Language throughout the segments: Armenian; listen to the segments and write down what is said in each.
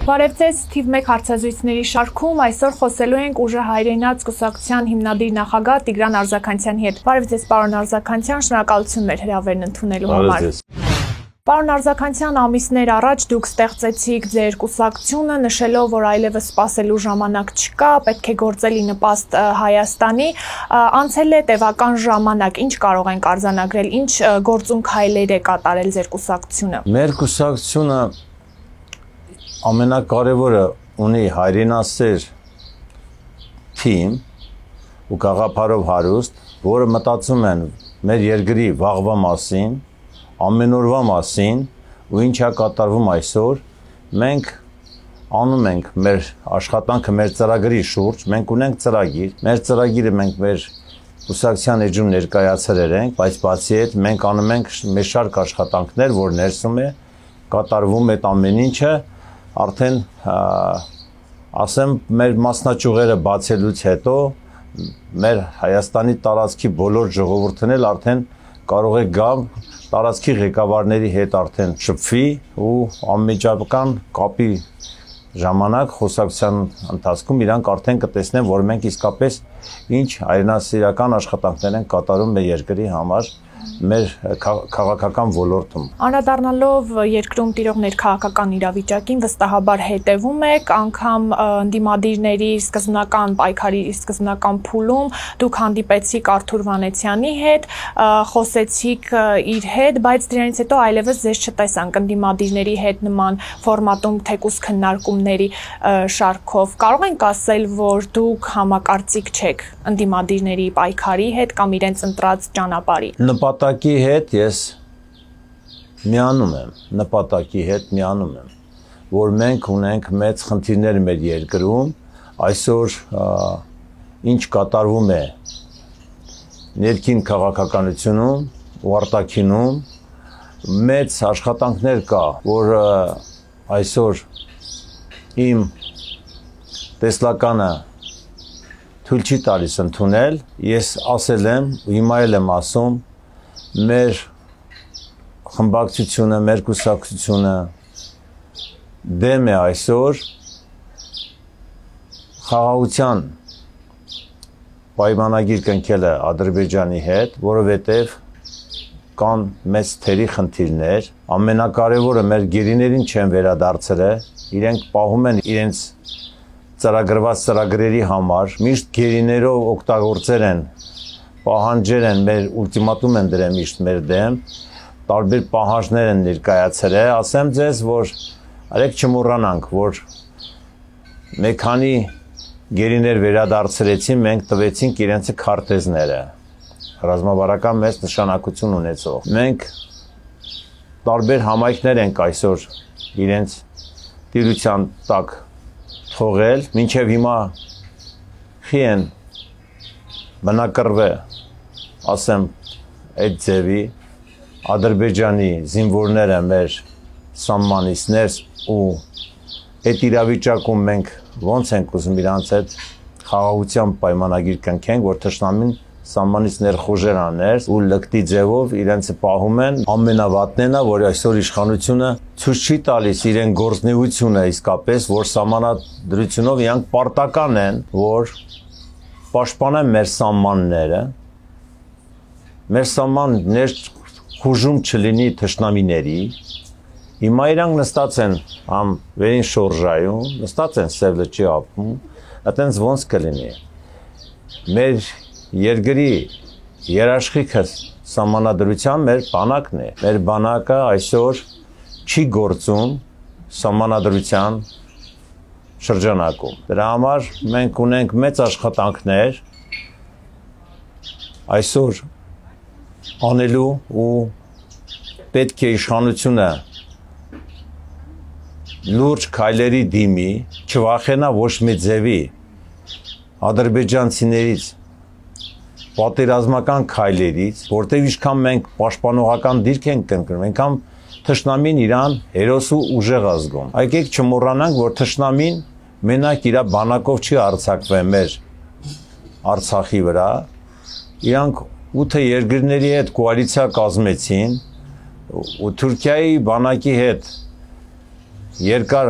Բարև ձեզ, թիվ 1 հարցազրույցների շարքում այսօր խոսելու ենք ուժը հայրենաց կուսակցության հիմնադիր նախագահ Տիգրան Արձաքանցյանի հետ։ Բարև ձեզ, պարոն Արձաքանցյան, շնորհակալություն մեր հրավերն ընդունելու համար։ Պարոն Արձաքանցյան, ամիսներ առաջ դուք ստեղծեցիք ձեր կուսակցությունը, նշելով, որ այլևս սպասելու ժամանակ չկա, պետք է գործել ի նպաստ Հայաստանի։ Անցել է տևական ժամանակ, ինչ կարող ենք արձանագրել, ինչ գործուն քայլեր է կատարել ձեր կուսակցությունը։ Մեր կուսակցությունը ամենակարևորը ունի հայրենասեր թիմ ու գաղափարով հարուստ, որը մտածում են մեր երկրի վաղվա մասին, ամենօրվա մասին ու ինչ է կատարվում այսօր, մենք անում ենք մեր աշխատանքը մեր ծրագրի շուրջ, մենք ունենք ծրագիր, մեր ծրագիրը մենք մեր կուսակցության էջում ներկայացրել ենք, բայց բացի այդ մենք անում ենք մեր շարք աշխատանքներ, որ ներսում է կատարվում այդ ամեն ինչը, արդեն ասեմ մեր մասնաճյուղերը բացելուց հետո մեր Հայաստանի տարածքի բոլոր ժողովուրդն էլ արդեն կարող է գալ տարածքի ղեկավարների հետ արդեն շփվի ու անմիջական կապի ժամանակ խոսակցության ընթացքում իրանք արդեն կտեսնեն, որ մենք իսկապես ինչ հայրենասիրական աշխատանքներ են կատարում մեր երկրի համար մեր քաղաքական ոլորտում։ Անդրադառնալով երկրում տիրող ներքաղաքական իրավիճակին վստահաբար հետևում եք, անգամ ընդդիմադիրների սկզբնական պայքարի սկզբնական փուլում դուք հանդիպեցիք Արթուր Վանեցյանի հետ, խոսեցիք իր հետ, բայց դրանից հետո այլևս ձեզ չտեսանք ընդդիմադիրների հետ նման ֆորմատում թեկուզ քննարկումների շարքով։ Կարող ենք ասել, որ դուք համակարծիք չեք ընդդիմադիրների պայքարի հետ կամ իրենց ընտրած ճանապարհի։ Նպատակի հետ ես միանում եմ, որ մենք ունենք մեծ խնդիրներ մեր երկրում, այսօր ինչ կատարվում է ներքին քաղաքականությունում ու արտաքինում, մեծ աշխատանքներ կա, որ այսօր իմ տեսլականը թույլ չի տալիս ընդունել, ես ասել եմ ու հիմա եմ ասում, մեր խմբակցությունը, մեր կուսակցությունը դեմ է այսօր խաղաղության պայմանագիր կնքելը Ադրբեջանի հետ, որովհետև կան մեծ թերի խնդիրներ, ամենակարևորը մեր գերիներին չեն վերադարձրել, իրենք պահում են իրենց ծրագրված ծրագրերի համար, միշտ գերիներով օգտագործել են, պահանջեր են, մեր ուլտիմատում են դրել միշտ մեր դեմ, տարբեր պահանջներ են ներկայացրել, ասեմ ձեզ, որ արեք չմոռանանք, որ մեկ քանի գերիներ վերադարձրեցին, մենք տվեցինք իրենց քարտեզները, ռազմավարական մեծ նշանակություն ունեցող։ Մենք տարբեր համայնքներ ենք այսօր իրենց տիրության տակ թողել, մինչև հիմա խի են բնակրվել, ասեմ, այդ ձևի, Ադրբեջանի զինվորները մեր սահմանից ներս ու այդ իրավիճակում մենք ոնց ենք ուզում իրանց հետ խաղաղության պայմանագիր կնքենք, որ թշնամին սահմանից ներխուժեր աներ ու լկտի ձևով իրենց պահում են, ամենավատն է, որ այսօր իշխանությունը ցույց չի տալիս իրեն գործնեությունը իսկապես, որ սահմանադրությունով իրանք պարտական են, որ պաշտպանեն մեր սահմանները, մեր սահմաններ խուժում չլինի թշնամիների, հիմա իրանք նստած են համ վերին շորժայում, նստած են Սև լճի ափում, այտենց ոնց կլինի։ Մեր երկրի երաշխիքը սահմանադրության մեր բանակն է, մեր բանակը այսօր չի գործում սահմանադրության շրջանակում։ Դրա համար մենք ունենք մեծ աշխատանքներ այսօր անելու ու պետք է իշխանությունը լուրջ քայլերի դիմի, չվախենա ոչ մի ձևի ադրբեջանցիներից, պատերազմական քայլերից, որտեղ ինչքան մենք պաշտպանողական դիրք ենք կնկնում, այնքան թշնամին իրան հերոս ու ուժեղ ազգում։ Եկեք չմոռանանք, որ թշնամին մենակ իր բանակով չի արձակվել մեր Արցախի վրա, իրանք 8 երկրների հետ կոալիցիա կազմեցին ու Թուրքիայի բանակի հետ երկար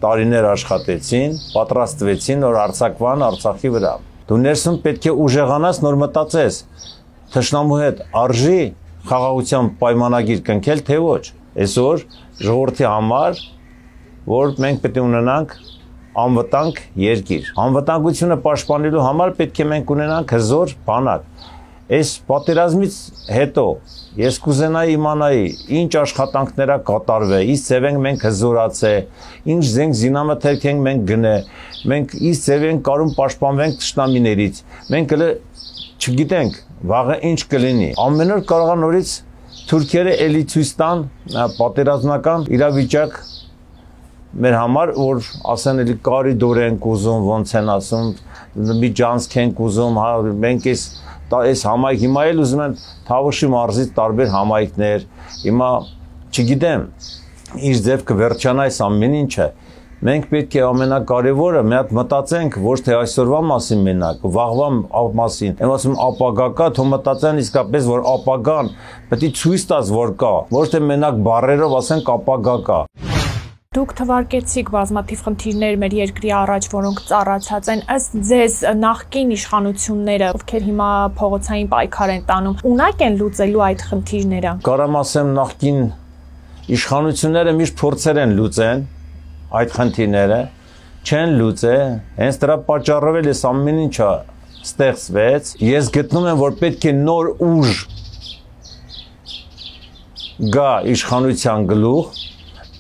տարիներ աշխատեցին, պատրաստվեցին, որ արձակվան Արցախի վրա։ Դու ներսում պետք է ուժեղանաս, նոր մտածես, թշնամու հետ արժի խաղաղության պայմանագիր կնքել, թե ոչ։ Այսօր ժողովրդի համար, որ մենք պետք է ունենանք անվտանգ երկիր։ Անվտանգությունը պաշտպանելու համար պետք է մենք ունենանք հզոր բանակ։ Այս պատերազմից հետո ես կուզենայի իմանայի ինչ աշխատանքներ կատարվել, ինչ ձև ենք մենք հզորացել, ինչ զենք զինամթերք ենք մենք գնել, մենք ինչ ձև ենք կարող պաշտպանվենք թշնամիներից։ Մենք չգիտենք վաղը ինչ կլինի։ Ամեն օր կարող է նորից թուրքերը էլի ցույց տան պատերազմական իրավիճակ մեր համար, որ ասեն էլի կարիդոր ենք ուզում, ոնց են ասում, միջանցք ենք ուզում, մենք այս համայնք հիմա էլ ուզում են Թավուշի մարզից տարբեր համայնքներ, հիմա չգիտեմ ինչ ձև կվերջանա այս ամեն ինչը, մենք պետք է ամենակարևորը մի հատ մտածենք ոչ թե այսօրվա մասին մենակ, վաղվա մասին, եմ ասում ապագա կա, թող մտածեն իսկապես, որ ապագան պետք է ցույց տաս, որ կա, ոչ թե մենակ բառերով ասենք ապագա կա։ Դուք թվարկեցիք բազմաթիվ խնդիրներ մեր երկրի առաջ, որոնք ծառացած են, ըստ ձեզ նախկին իշխանությունները, ովքեր հիմա փողոցային պայքար են տանում, ունակ են լուծելու այդ խնդիրները։ Կարամ ասեմ նախկին իշխանությունները միշտ փորձեր են լուծեն այդ խնդիրները, չեն լուծել, հենց դրա պատճառով էլ այս ամեն ինչը ստեղծվեց։ Ես գտնում եմ, որ պետք է նոր ուժ գա իշխանության գլուխ,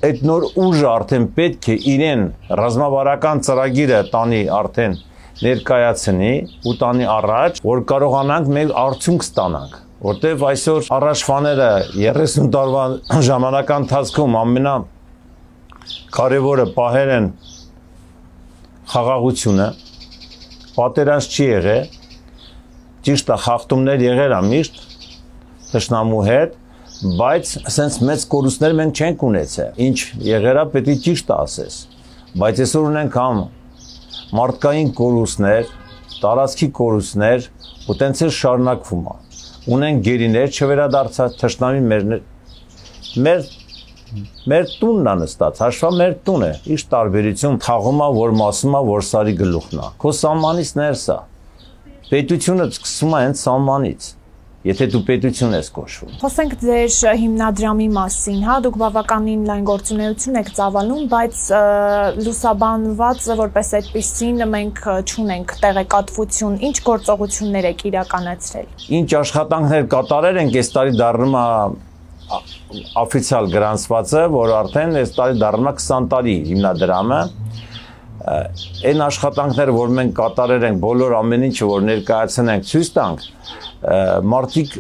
այդ նոր ուժը արդեն պետք է իրեն ռազմավարական ծրագիրը տանի արդեն ներկայացնի ու տանի առաջ, որ կարողանանք մեր արդյունք ստանանք, որտեղ այսօր առաջվաները 30 տարվա ժամանական ընթացքում ամենակարևորը պահել են խաղաղությունը, պատերազմ չի եղել, ճիշտ է խախտումներ եղել է միշտ թշնամու հետ, բայց ասենց մեծ կորուստներ մենք չենք ունեցել, ինչ եղերա պետք է ճիշտ ասես, բայց այսօր ունենք համ մարդկային կորուստներ, տարածքի կորուստներ, ու տենց էլ շարունակվում է, ունենք գերիներ չվերադարձած, թշնամի մեր տունն է նստած, հաշվա մեր տուն է, ինչ տարբերություն թաղում է, որ մասում է, որ սարի գլուխն է, քո սահմանից ներս է, պետությունը սկսում է հենց սահմանից, եթե դու պետություն ես կոչվում։ Խոսենք ձեր հիմնադրամի մասին, հա, դուք բավականին լայն գործունեություն եք ծավալում, բայց լուսաբանված որպես այդպիսին մենք չունենք տեղեկատվություն, ինչ գործողություններ եք իրականացրել։ Ինչ աշխատանքներ կատարել ենք, այս տարի դառնում է օֆիցիալ գրանցվածը, որ արդեն այս տարի դառնում է 20 տարի հիմնադրամը։ Այն աշխատանքները, որ մենք կատարել ենք, բոլոր ամեն ինչը, որ ներկայացնենք, ցույց տանք, մարդիկ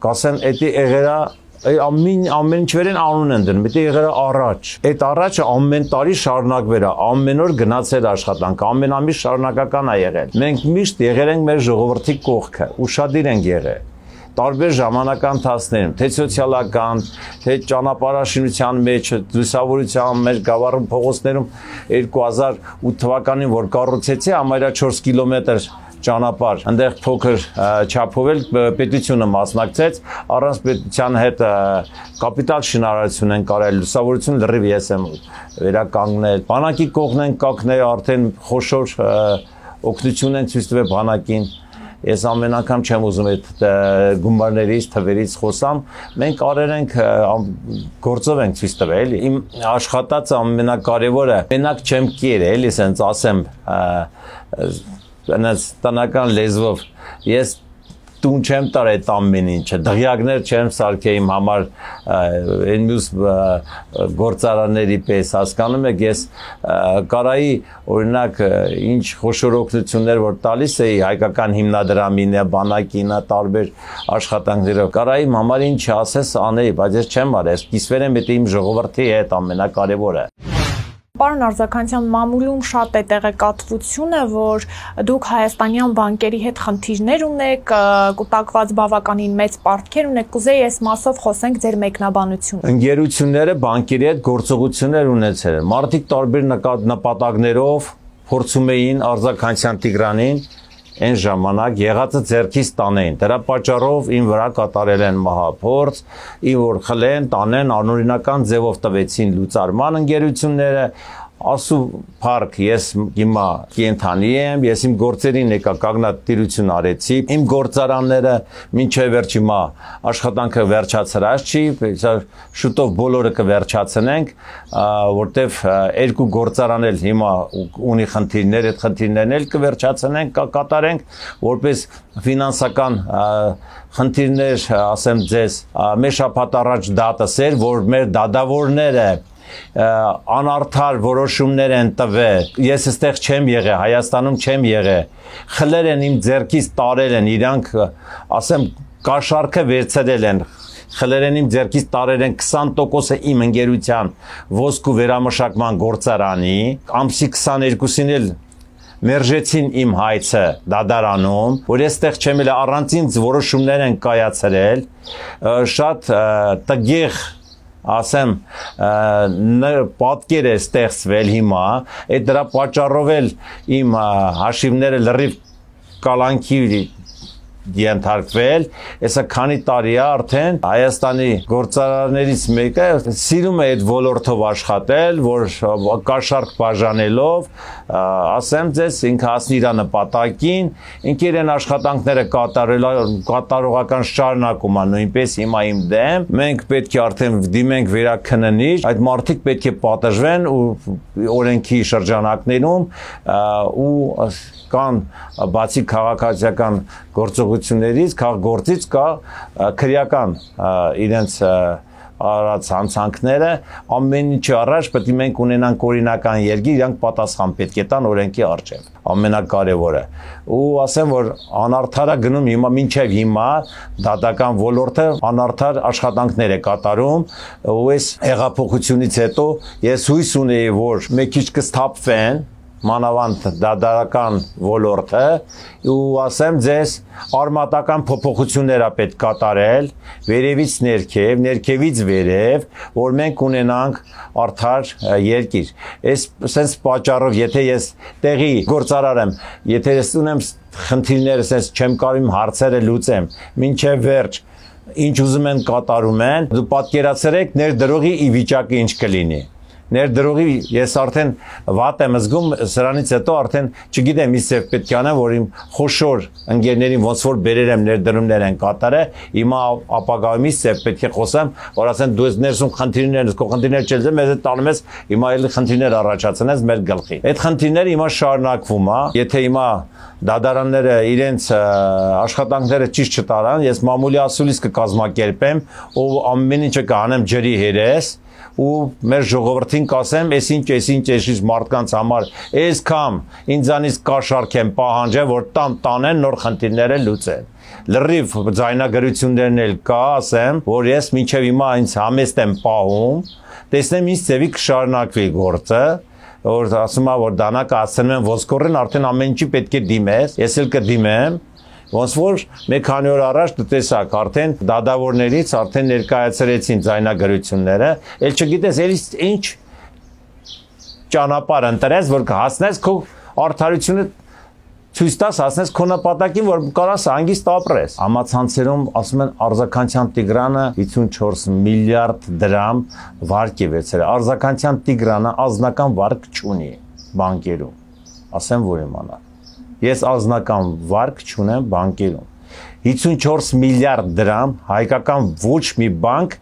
կասեն, էդի եղերա ամեն ինչ վերեն անուն են դնում, էդի եղերա առաջ։ Այդ առաջը ամեն տարի շարունակվեր է, ամեն օր գնացել աշխատանք, ամեն ամիս շարունակական է եղել։ Մենք միշտ եղել ենք մեր ժողովրդի կողքը, ուշադիր ենք եղել։ Տարբեր ժամանական ընթացներում, թե սոցիալական, թե ճանապարհաշինության մեջ, լուսավորության մեջ, գավառում փողոցներում 2008 թվականին, որ կառուցեցի, համարյա 4 կիլոմետր ճանապարհ, այնտեղ փոքր չափով էլ պետությունը մասնակցեց, առանց պետության հետ կապիտալ շինարարություն են կարել, լուսավորություն լրիվ ես եմ վերականգնել, բանակի կողմն են կակնել, արդեն խոշոր օգնություն են ցույց տվել բանակին։ Ես ամեն անգամ չեմ ուզում այդ գումարներից, թվերից խոսամ, մենք արել ենք, գործով ենք ցույց տվել, իմ աշխատած ամենակարևորը, մենակ չեմ կերել, էլի սենց ասեմ, տնական լեզվով, ես տուն չեմ տար այդ ամեն ինչը, դղյակներ չեմ սարքել իմ համար այն մյուս գործարանների պես, հասկանում եք, ես կարայի օրինակ ինչ խոշոր օգնություններ որ տալիս էի հայկական հիմնադրամին, բանակին, տարբեր աշխատանքներով, կարայի իմ համար ինչ ասես անեի, բայց ես չեմ արել, կիսվեր եմ իմ ժողովրդի հետ ամենակարևորը։ Պարոն Արձականյան, մամուլում շատ է տեղեկատվությունը, որ դուք հայաստանյան բանկերի հետ խնդիրներ ունեք, կուտակված բավականին մեծ պարտքեր ունեք, կուզեի այս մասով խոսենք ձեր մեկնաբանությունը։ Ընկերությունները բանկերի հետ գործողություններ ունեցել են, մարդիկ տարբեր նպատակներով փորձում էին Արձականյան Տիգրանին այն ժամանակ եղածը ձեռքից տանեին, դրա պատճառով ին վրա կատարել են մահափորձ, ին որ խլեն, տանեն, անօրինական ձևով տվեցին լուծարման ընկերությունները, ասու փառք ես հիմա կենթանի եմ, ես իմ գործերին եկա կագնատիրություն արեցի, իմ գործարանները մինչև վերջ հիմա աշխատանքը վերջացրած չի, շուտով բոլորը կվերջացնենք, որտեվ երկու գործարան էլ հիմա ունի խնդիրներ, այդ խնդիրներն էլ կվերջացնենք, կկատարենք, որպես ֆինանսական խնդիրներ, ասեմ ձեզ, մեր շաբաթ առաջ դատասեր, որ մեր դատավորները անարդար որոշումներ են տվել, ես այստեղ չեմ եղել, Հայաստանում չեմ եղել, խլեր են իմ ձեռքից տարել են, իրանք, ասեմ, կաշառքը վերցրել են, խլեր են իմ ձեռքից տարել են 20%-ը իմ ընկերության ոսկու վերամշակման գործարանի, ամսի 22-ին էլ մերժեցին իմ հայցը դադարանում, որ ես տեղ չեմ էլ առանցին որոշումներ են կայացրել, շատ տգեղ, ասեմ, պատկեր է ստեղծվել հիմա, այդ դրա պատճառով էլ իմ հաշիվները լրիվ կալանքի ենթարկվել, այսա քանի տարի է արդեն Հայաստանի գործարարներից մեկը սիրում է այդ ոլորտով աշխատել, որ կաշառք բաժանելով, ասեմ ձեզ, ինքը հասնի իր նպատակին, ինքը իրեն աշխատանքները կատարողական շարունակում է նույնպես հիմա իմ դեմ, մենք պետք է արդեն դիմենք վերաքննիչ, այդ մարդիկ պետք է պատժվեն ու օրենքի շրջանակներում ու կան բացի քաղաքացիական գործողություններից, քաղաքգործից կա քրեական իրենց արած հանցանքները, ամեն ինչի առաջ պետք է մենք ունենանք օրինական երկիր, իրանք պատասխան պետք է տան օրենքի առջև, ամենակարևորը։ Ու ասեմ, որ անարդարա գնում հիմա մինչև հիմա դատական ոլորտը անարդար աշխատանքներ է կատարում, ու այս հեղափոխությունից հետո ես հույս ունեի, որ մեկ քիչ կսթափվեն մանավանդ դադարական ոլորտը ու ասեմ ձեզ արմատական փոփոխություններ է պետք կատարել վերևից ներքև, ներքևից վերև, որ մենք ունենանք արդար երկիր։ Այս պատճառով, եթե ես տեղի գործարար եմ, եթե ես ունեմ խնդիրները, sense չեմ կարող հարցերը լուծեմ, մինչև վերջ ինչ ուզում են կատարում են, դու պատկերացրեք ներդրողի ի վիճակը ինչ կլինի։ Ներդրողի ես արդեն վատ եմ զգում, սրանից հետո արդեն չգիտեմ ինչ պետք է անեմ, որ իմ խոշոր ընկերներին ոնց որ բերեր եմ ներդրումներ են կատարել, հիմա ապագայումից պետք է խոսեմ, որ ասեն դու ես ներսում խնդիրներ ես, քո խնդիրներ չես, մեզ տանում ես, հիմա էլի խնդիրներ առաջացնես մեր գլխի։ Այդ խնդիրները հիմա շարունակվում է, եթե հիմա դադարանները իրենց աշխատանքները ճիշտ չտարան, ես մամուլի ասուլիս կկազմակերպեմ, ու ամեն ինչը կանեմ ջրի հերես ու մեր ժողովրդին կասեմ, այսինչ մարդկանց համար, այսքան ինձանից կաշառք եմ պահանջել, որ տանեն նոր խնդիրները լուծեն։ Լրիվ ձայնագրություններն էլ կա, ասեմ, որ ես մինչև հիմա ինձ համեստ եմ պահում, տեսնեմ ինչ ձևի կշարունակվի գործը, որ ասում է, որ դանակը ասում են ոսկորեն, արդեն ամեն ինչի պետք է դիմես, ես էլ կդիմեմ, ոնց որ մեկ քանի օր առաջ տեսակ արդեն դադավորներից արդեն ներկայացրեցին ձայնագրությունները, ել չգիտես ինչ ճանապարհ ընտրես, որ հասնես քո արդարությունը ցույց տաս, հասնես քո նպատակին, որ կարաս հանգիստ ապրես։ Համացանցերում ասում են Արձականցյան Տիգրանը 54 միլիարդ դրամ վարկ է վերցրել։ Արձականցյան Տիգրանը ազնական վարկ չունի բանկերում, ասեմ որ իմանա։ Ես ազնական վարկ չունեմ բանկերում։ 54 միլիարդ դրամ հայկական ոչ մի բանկ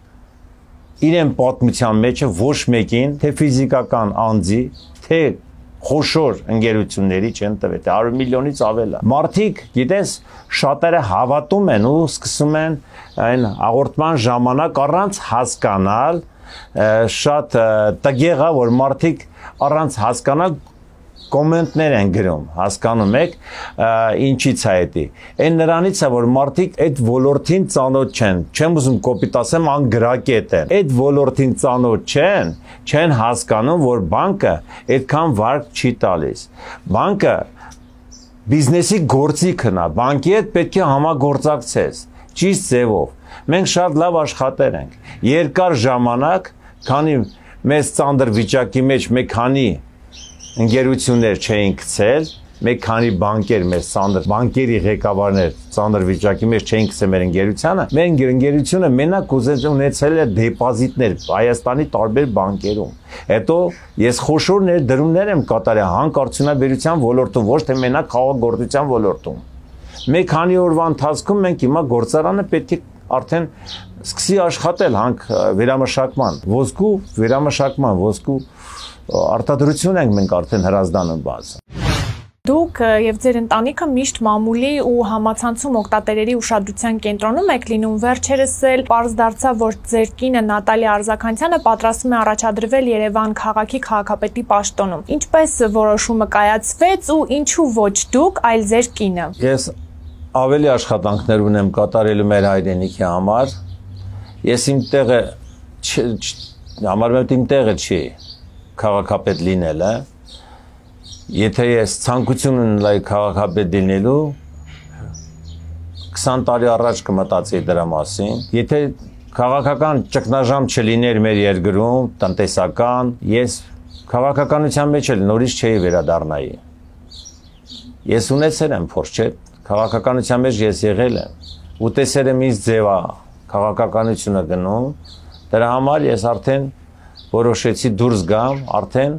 իրեն պատմության մեջ ոչ մեկին, թե ֆիզիկական անձի, թե խոշոր ընկերությունների չեն տվել, 100 միլիոնից ավել է։ Մարդիկ, գիտես, շատերը հավատում են ու սկսում են այն հաղորդման ժամանակ առանց հասկանալ, շատ տգեղ է, որ մարդիկ առանց հասկանալ կոմենտներ են գրում, հասկանում եք, ինչից է դա։ Այն նրանից է, որ մարդիկ այդ ոլորտին ծանոթ չեն, չեմ ուզում կոպիտ ասեմ, անգրակետ են։ Այդ ոլորտին ծանոթ չեն հասկանում, որ բանկը այդքան վարկ չի տալիս։ Բանկը բիզնեսի գործիքն է, բանկի հետ պետք է համագործակցես, ճիշտ ձևով։ Մենք շատ լավ աշխատել ենք։ Երկար ժամանակ, քանի մեծ ծանր վիճակի մեջ մեկ քանի ընկերություններ չէին գցել, մեկ քանի բանկեր մեր ծանր բանկերի ղեկավարներ ծանր վիճակի մեջ չէին գցել մեր ընկերությանը, մեր ընկերությունը մենակ ունեցել է դեպոզիտներ Հայաստանի տարբեր բանկերում։ Հետո ես խոշոր ներդրումներ եմ կատարել հանքարդյունաբերության ոլորտում, ոչ թե մենակ խաղաղագործության ոլորտում։ Մեկ քանի օրվա ընթացքում մենք հիմա գործարանը պետք է արդեն սկսի աշխատել հանք վերամշակման, ոսկու արտադրություն ենք մենք արդեն հրազդանում բաց։ Դուք եւ ձեր ընտանիքը միշտ մամուլի ու համացանցում օգտատերերի ուշադրության կենտրոնում եք լինում, վերջերս էլ պարզ դարձավ, որ ձեր կինը Նատալիա Արզականցյանը պատրաստվում է առաջադրվել Երևան քաղաքի քաղաքապետի պաշտոնում։ Ինչպես որոշումը կայացվեց ու ինչու ոչ դուք, այլ ձեր կինը։ Ես ավելի աշխատանքներ ունեմ կատարելու մեր հայրենիքի համար։ Ես իմ տեղը համարում եմ իմ տեղը չի քաղաքապետ լինելը։ Եթե ես ցանկություն ունենայի քաղաքապետ լինելու 20 տարի առաջ կմտածեի դրա մասին։ Եթե քաղաքական ճգնաժամ չլիներ մեր երկրում, տնտեսական, ես քաղաքականության մեջ էլ նորից չէի վերադառնայի։ Ես ունեցել եմ փորձ, չէ՞, քաղաքականության մեջ ես եղել եմ ու տեսել եմ ինչ ձև է քաղաքականությունը գնում։ Դրա համար ես արդեն որոշեցի դուրս գամ, արդեն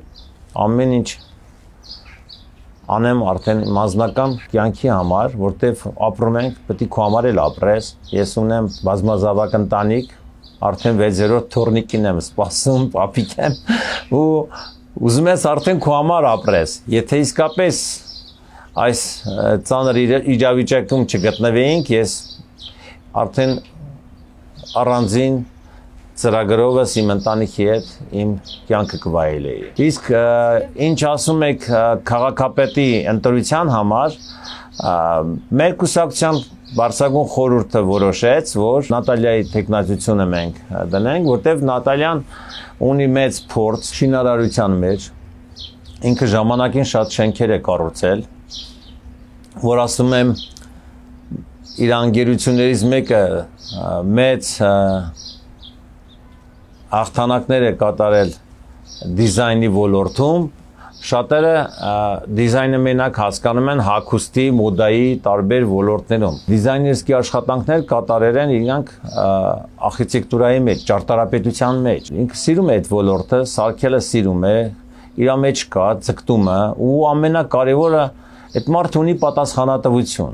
ամեն ինչ անեմ արդեն մասնական կյանքի համար, որտեվ ապրում ենք, պետք է քո համար էլ ապրես։ Ես ունեմ բազմազավակ ընտանիք, արդեն 6-րդ թորնիկին եմ սպասում, պապիկ եմ, ու ուզում ես արդեն քո համար ապրես։ Եթե իսկապես այս ծանր իրավիճակում չգտնվեինք, ես արդեն առանձին ծրագրովս իմ ընտանիքի հետ իմ կյանքը կվայելեի։ Իսկ ինչ ասում եք քաղաքապետի ընտրության համար, մեր կուսակցության բարձրագույն խորհուրդը որոշեց, որ Նատալիայի տեխնացությունը մենք դնենք, որտեղ Նատալիան ունի մեծ փորձ շինարարության մեջ, ինքը ժամանակին շատ շենքեր է կառուցել, որ ասում եմ իր անգերություններից մեկը մեծ հաղթանակներ է կատարել դիզայնի ոլորտում, շատերը դիզայնը մենակ հասկանում են հագուստի, մոդայի տարբեր ոլորտներում։ Դիզայներսկի աշխատանքներ կատարել են իրանք արխիտեկտուրայի մեջ, ճարտարապետության մեջ։ Ինքը սիրում է այդ ոլորտը, սարքելը սիրում է, իր մեջ կա ձգտումը ու ամենակարևորը այդ մարդը ունի պատասխանատվություն։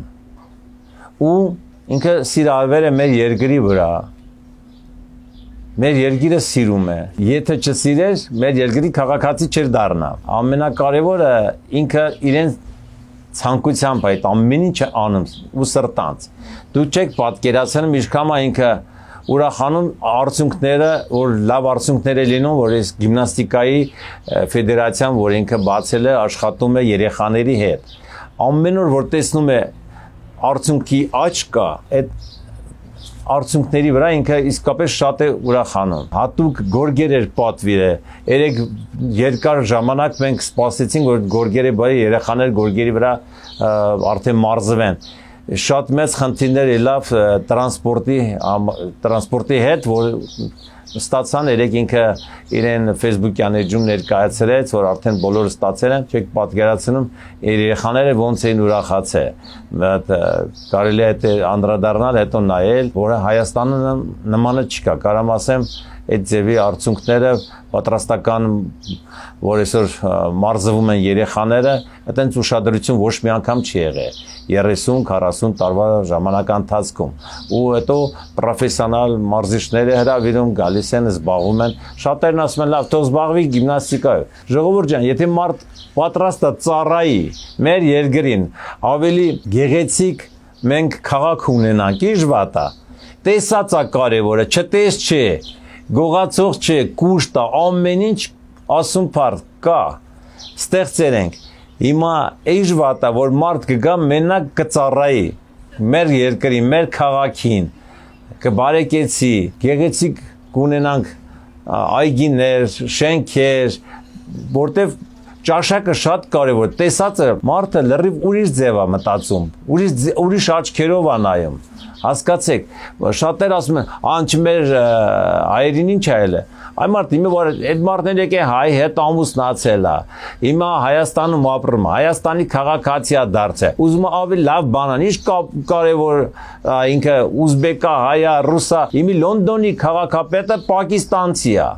Ու ինքը սիրավեր է մեր երկրի վրա։ Մեր երկիրը սիրում է։ Եթե չսիրեր, մեր երկրի քաղաքացի չէր դառնա։ Ամենակարևորը ինքը իրեն ցանկությամբ այդ ամեն ինչը անում ու սրտանց։ Դու չեք պատկերացնում ինչքան է ինքը ուրախանում արդյունքները, որ լավ արդյունքներ է լինում, որ այս գիմնաստիկայի ֆեդերացիան, որ ինքը բացել է, աշխատում է երեխաների հետ։ Ամեն օր որ տեսնում է արդյունքի աճ կա, այդ արդյունքների վրա ինքը իսկապես շատ է ուրախանում։ Հատուկ գորգեր էր պատվիրը։ Երեք երկար ժամանակ մենք սպասեցինք, որ գորգերը բարի երեխաներ գորգերի վրա արդեն մարզվեն։ Շատ մեծ խնդիրներ ելավ տրանսպորտի հետ, որ ստացան երեք ինքը իրեն Facebook-յան էջում ներկայացրեց, որ արդեն բոլորը ստացել են, չեք պատկերացնում երեխաները ոնց էին ուրախացել։ Կարելի է անդրադառնալ, հետո նայել, որ Հայաստանը նմանը չկա, կարամ ասեմ, այդ ձևի արդյունքները պատրաստական, որ այսօր մարզվում են երեխաները, այդպես ուշադրություն ոչ մի անգամ չի եղել 30-40 տարվա ժամանական ընթացքում։ Ու հետո պրոֆեսիոնալ մարզիչները հրավիրում գալիս են, զբաղվում են։ Շատերն ասում են, լավ, թող զբաղվի գիմնաստիկայով։ Ժողովուրդ ջան, եթե մարդ պատրաստ է ծառայի մեր երկրին, ավելի գեղեցիկ մենք քաղաք ունենանք, ի ժվատա։ Տեսած է կարևորը, չտես չէ։ Գողացող չէ, կուշտ է, ամեն ինչ ասում փառ կա, ստեղծեր ենք։ Հիմա էջ վատա, որ մարդ կգա մենակ կծառայի, մեր երկրի, մեր քաղաքին, կբարեկեցի, գեղեցիկ կունենանք այգիներ, շենքեր, որտև ճաշակը շատ կարևոր, տեսածը մարդը լրիվ ուրիշ ձև է մտածում, ուրիշ աչքերով է նայում, հասկացեք, շատեր ասում են, անչ մեր հայերին ինչ այլ է, Այ մարդ իմը որ այդ մարդն եկե հայ հետ ամուսնացել է։ Հիմա Հայաստանում ապրում է, Հայաստանի քաղաքացի է դարձել։ Ուզում է ավելի լավ բանան, ինչ կարևոր ինքը ուզբեկա, հայա, ռուսա, իմի Լոնդոնի քաղաքապետը պակիստանցի է։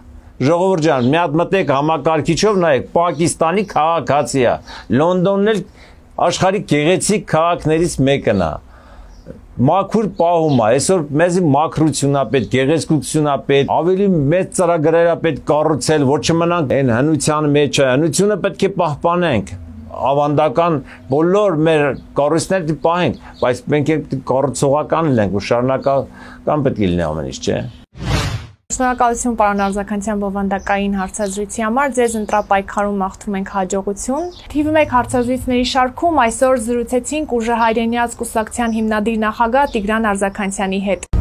Ժողովուրդ ջան, մի հատ մտեք համակարգիչով նայեք, Պակիստանի քաղաքացի է։ Լոնդոնն էլ աշխարհի գեղեցիկ քաղաքներից մեկն է։ Մաքուր պահում է, այսօր մեզի մաքրություն է պետք, գեղեցկություն է պետք, ավելի մեծ ծրագրեր է պետք կառուցել, որ չմնանք այն հնության մեջ, հնությունը պետք է պահպանենք, ավանդական բոլոր մեր կառույցները պահենք, բայց մենք կառուցողական լինենք ու շարունակական պետք է լինի ամեն ինչ, չէ՞։ Շնորհակալություն պարոն Արձականցյան բովանդակային հարցազրույցի համար, ձեզ ընտրապայքարում մաղթում ենք հաջողություն։ TV1 հարցազրույցների շարքում այսօր զրուցեցինք Ուժը հայրենիաց կուսակցության հիմնադիր նախագահ Տիգրան Արձականցյանի հետ։